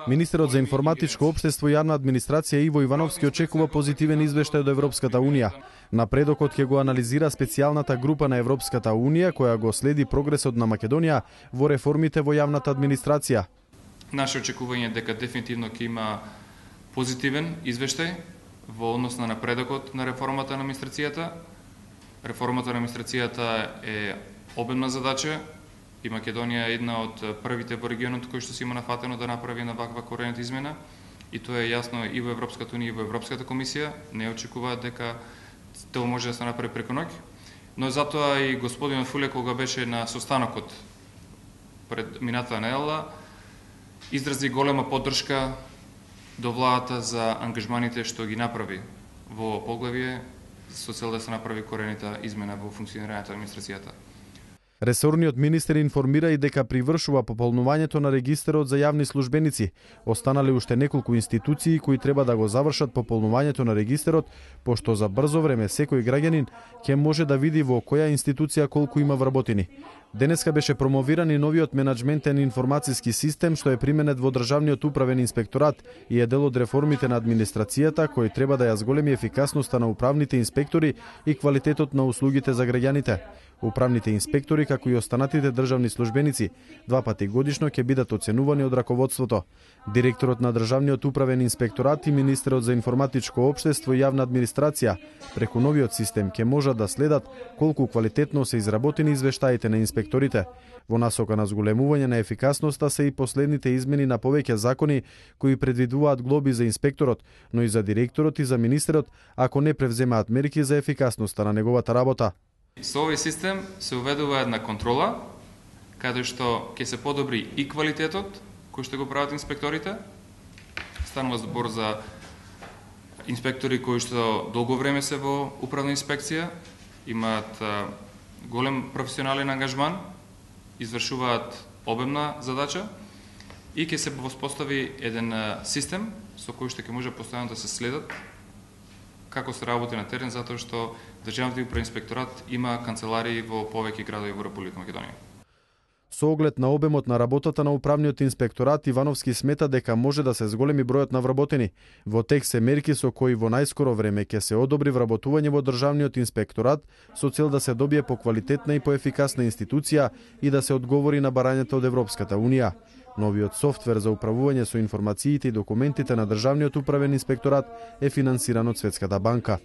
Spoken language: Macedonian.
Министерот за информатичко општество и јавна администрација Иво Ивановски очекува позитивен извештај од Европската Унија. Напредокот ќе го анализира специјалната група на Европската Унија која го следи прогресот на Македонија во реформите во јавната администрација. Наше очекување е дека дефинитивно ќе има позитивен извештај во однос на напредокот на реформата на администрацијата. Реформата на администрацијата е обемна задача и Македонија е една од првите во регионот кој што си има нафатено да направи една ваква коренета измена, и тоа е јасно и во Европската Унија и во Европската комисија. Не очекуваат дека тоа може да се направи преку ноќ, но затоа и господин Фуле кога беше на состанокот пред минатата недела изрази голема поддршка до владата за ангажманите што ги направи во поглавје со цел да се направи коренита измена во функционирањето на администрацијата. Ресорниот министер информира и дека привршува пополнувањето на регистарот за јавни службеници. Останале уште неколку институции кои треба да го завршат пополнувањето на регистарот, пошто за брзо време секој граѓанин ќе може да види во која институција колку има вработени. Денеска беше промовиран и новиот менаџментен информациски систем што е применет во Државниот управен инспекторат и е дел од реформите на администрацијата кој треба да ја зголеми ефикасноста на управните инспектори и квалитетот на услугите за граѓаните. Управните инспектори, како и останатите државни службеници, 2 пати годишно ќе бидат оценувани од раководството. Директорот на Државниот управен инспекторат и министерот за информатичко општество и јавна администрација преку новиот систем ќе можат да следат колку квалитетно се изработени извештаите на инспекторите. Во насока на зголемување на ефикасноста се и последните измени на повеќе закони кои предвидуваат глоби за инспекторот, но и за директорот и за министерот ако не превземаат мерки за ефикасноста на неговата работа. Со овој систем се уведува една контрола, каде што ќе се подобри и квалитетот кој што го прават инспекторите. Станува збор за инспектори кои што долго време се во управна инспекција, имаат голем професионален ангажман, извршуваат обемна задача и ќе се воспостави еден систем со кој што ќе може постојано да се следат како се работи на терен, затоа што Државниот управен инспекторат има канцеларии во повеќе градови во Република Македонија. Со оглед на обемот на работата на управниот инспекторат, Ивановски смета дека може да се зголеми бројот на вработени. Во тек се мерки со кои во најскоро време ќе се одобри вработување во Државниот инспекторат со цел да се добие поквалитетна и поефикасна институција и да се одговори на барањата од Европската Унија. Новиот софтвер за управување со информациите и документите на Државниот управен инспекторат е финансиран од Светската банка.